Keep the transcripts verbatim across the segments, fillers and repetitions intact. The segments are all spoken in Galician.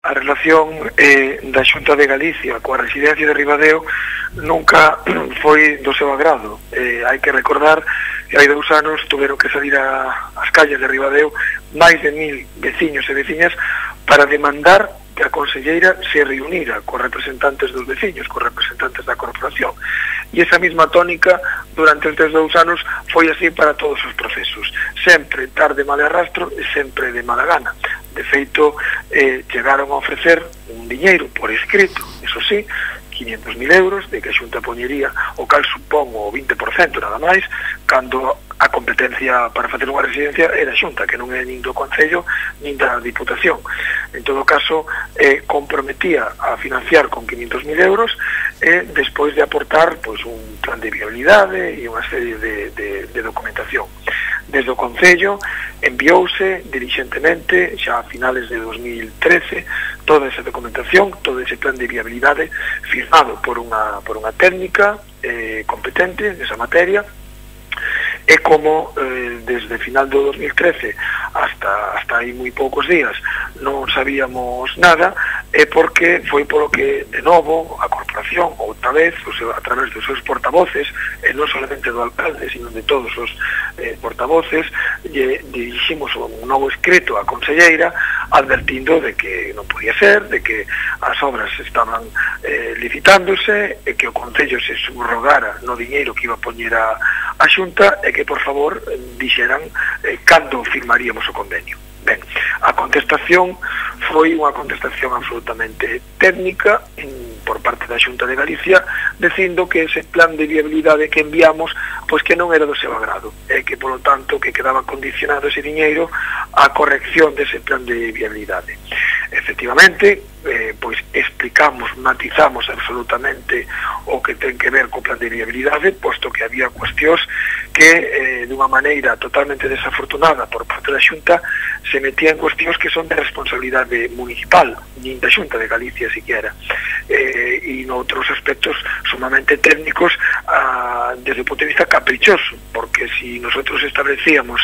A relación eh, da Xunta de Galicia coa residencia de Ribadeo nunca foi do seu agrado. Eh, hai que recordar que hai dous anos tuveron que salir a, as calles de Ribadeo máis de mil veciños e veciñas para demandar que a conselleira se reunira cos representantes dos veciños, cos representantes da corporación. E esa mesma tónica durante estes dous anos foi así para todos os procesos. Sempre tarde mal arrastro e sempre de mala gana. De feito, eh, chegaron a ofrecer un diñeiro por escrito, eso sí, quinhentos mil euros, de que a Xunta poñería, o cal supón o vinte por cento nada máis, cando a competencia para facer unha residencia era a Xunta, que non é nin do Concello nin da Diputación. En todo caso, eh, comprometía a financiar con quinhentos mil euros e eh, despois de aportar pois, un plan de viabilidade e unha serie de, de, de documentación. Desde o Concello enviouse dirixentemente xa a finales de dos mil trece toda esa documentación, todo ese plan de viabilidade firmado por unha, por unha técnica eh, competente nesa materia. E como eh, desde final do dos mil trece hasta, hasta aí moi poucos días non sabíamos nada, é porque foi polo que de novo a corporación, outra vez, o seu, a través dos seus portavoces, e non solamente do alcalde, sino de todos os eh, portavoces, lle diriximos un novo escrito á conselleira advertindo de que non podía ser, de que as obras estaban eh, licitándose e que o Concello se subrogara no diñeiro que iba a poñer a, a Xunta e que, por favor, dixeran eh, cando firmaríamos o convenio. Ben, a contestación foi unha contestación absolutamente técnica en, por parte da Xunta de Galicia, dicindo que ese plan de viabilidade que enviamos pois que non era do seu agrado e que, polo tanto, que quedaba condicionado ese diñeiro á corrección dese plan de viabilidade. Efectivamente, eh, pois explicamos, matizamos absolutamente o que ten que ver co plan de viabilidade, posto que había cuestións que eh, dunha maneira totalmente desafortunada por parte da Xunta se metían cuestións que son de responsabilidade municipal, nin da Xunta de Galicia siquiera, eh, e noutros aspectos sumamente técnicos ah, desde o punto de vista caprichoso, porque si nosotros establecíamos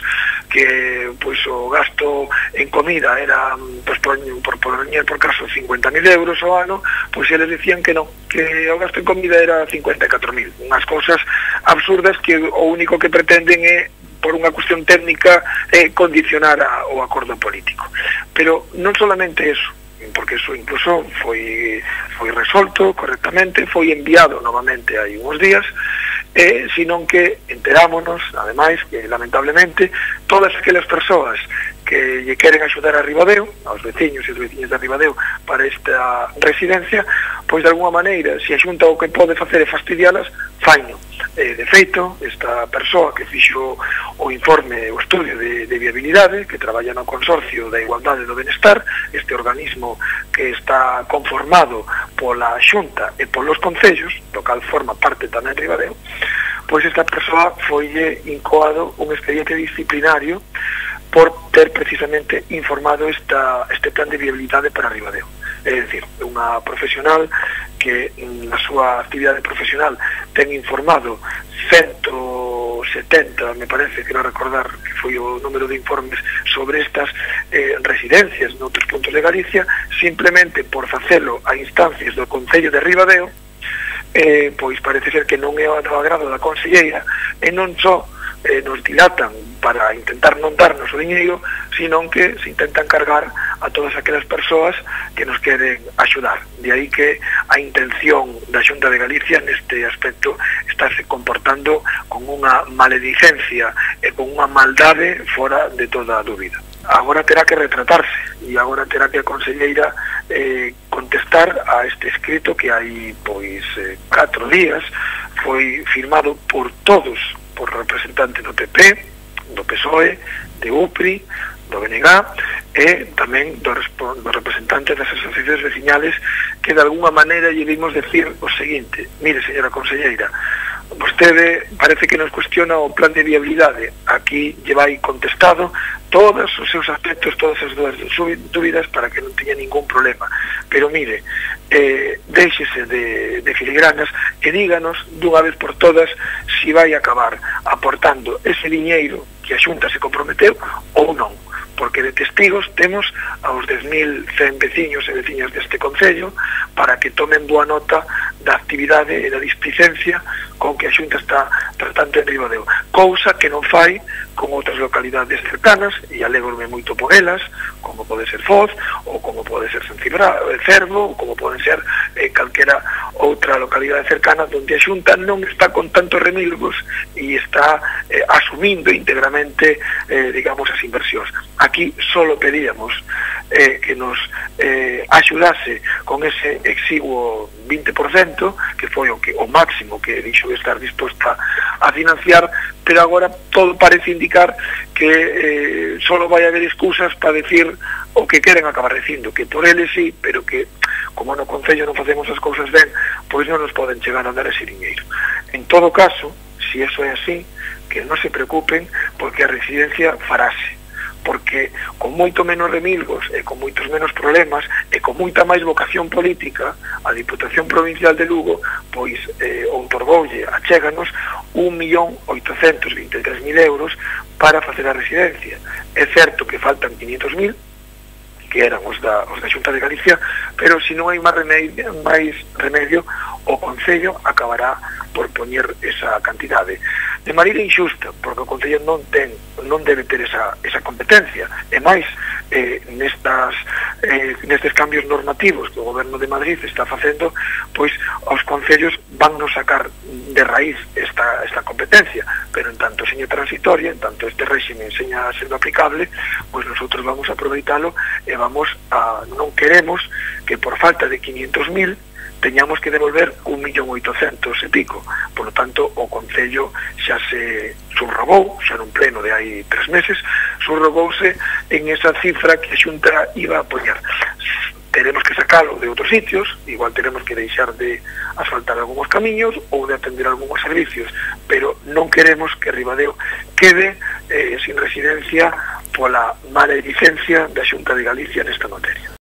que pois, o gasto en comida era pois, por, por, por, por caso cincuenta mil euros ao ano, pois eles decían que non, que o gasto en comida era cincuenta e catro mil, unhas cousas absurdas que o único que pretenden é por unha cuestión técnica eh, condicionar a, o acordo político. Pero non solamente eso, porque eso incluso foi, foi resolto correctamente, foi enviado novamente hai uns días, eh, sino que enterámonos, ademais, que lamentablemente todas aquelas persoas que lle queren axudar a Ribadeo, aos veciños e os veciños de Ribadeo para esta residencia, pois de alguma maneira, se a Xunta o que pode facer é fastidialas, faino. Eh, de feito, esta persoa que fixo o informe, o estudio de, de viabilidade, que traballa no Consorcio da Igualdade do Benestar, este organismo que está conformado pola Xunta e polos concellos, do cal forma parte tamén Ribadeo, pois esta persoa foille incoado un expediente disciplinario por ter precisamente informado esta, este plan de viabilidade para Ribadeo. É dicir, unha profesional que na súa actividade profesional ten informado ciento setenta, me parece, que non recordar que foi o número de informes sobre estas eh, residencias noutros puntos de Galicia, simplemente por facelo a instancias do Concello de Ribadeo, eh, pois parece ser que non é o agrado da conselleira, e non só eh, nos dilatan para intentar non darnos o diñeiro, sino que se intentan cargar a todas aquelas persoas que nos queren axudar. De aí que a intención da Xunta de Galicia neste aspecto está se comportando con unha maledicencia e con unha maldade fora de toda a dúbida. Agora terá que retratarse e agora terá que a conselleira eh, contestar a este escrito que hai pois eh, catro días foi firmado por todos, por representantes do P P, do P S O E, de U P R I, do B N G e tamén dos representantes das asociacións veciñales que de alguna maneira lle vimos decir o seguinte: mire, señora conselleira, vostede parece que nos cuestiona o plan de viabilidade, aquí lle vai contestado todos os seus aspectos, todas as dúbidas para que non teña ningún problema, pero mire, eh, déxese de, de filigranas e díganos dunha vez por todas si vai acabar aportando ese diñeiro que a Xunta se comprometeu ou non, porque de testigos temos aos dez mil cen veciños e veciñas deste concello para que tomen boa nota da actividade e da displicencia con que a Xunta está tratando en Ribadeo, cousa que non fai con outras localidades cercanas, e alegro-me moito por elas, como pode ser Foz, ou como pode ser Sancibra, Cervo, ou como pode ser eh, calquera outra localidade cercana onde a Xunta non está con tantos remilgos e está eh, asumindo íntegramente, eh, digamos, as inversións. Aquí solo pedíamos eh, que nos eh, axudase con ese exiguo vinte por cento, que foi o, que, o máximo que dixo estar disposta a financiar, pero agora todo parece indicar que eh, solo vai haber excusas para decir o que queren acabar dicindo, que por eles sí, pero que como no Concello non facemos as cousas ben, pois non nos poden chegar a dar ese dinheiro. En todo caso, se eso é así, que non se preocupen, porque a residencia farase, porque con moito menos remilgos e con moitos menos problemas e con moita máis vocación política, a Diputación Provincial de Lugo pois eh, outorgoulle, achéganos un millón oitocentos vinte e tres mil euros para facer a residencia. É certo que faltan quinientos mil, que eran os da, os da Xunta de Galicia, pero se non hai máis remedio, máis remedio, o Concello acabará por poñer esa cantidade de maneira injusta, porque o Concello non ten, non debe ter esa, esa competencia, e máis eh, nestas, eh, nestes cambios normativos que o Goberno de Madrid está facendo, pois os concellos van nos sacar de raíz esta, esta competencia, pero en tanto seña transitoria, en tanto este réxime seña sendo aplicable, pois nosotros vamos a aproveitalo e vamos a, non queremos que por falta de quinientos mil teñamos que devolver un millón oitocentos e pico. Por lo tanto, o Concello xa se subrogou, xa nun pleno de hai tres meses, subrogouse en esa cifra que a Xunta iba a poñer. Teremos que sacalo de outros sitios, igual teremos que deixar de asfaltar algúns camiños ou de atender algúns servicios, pero non queremos que Ribadeo quede eh, sin residencia pola mala licencia da Xunta de Galicia nesta materia.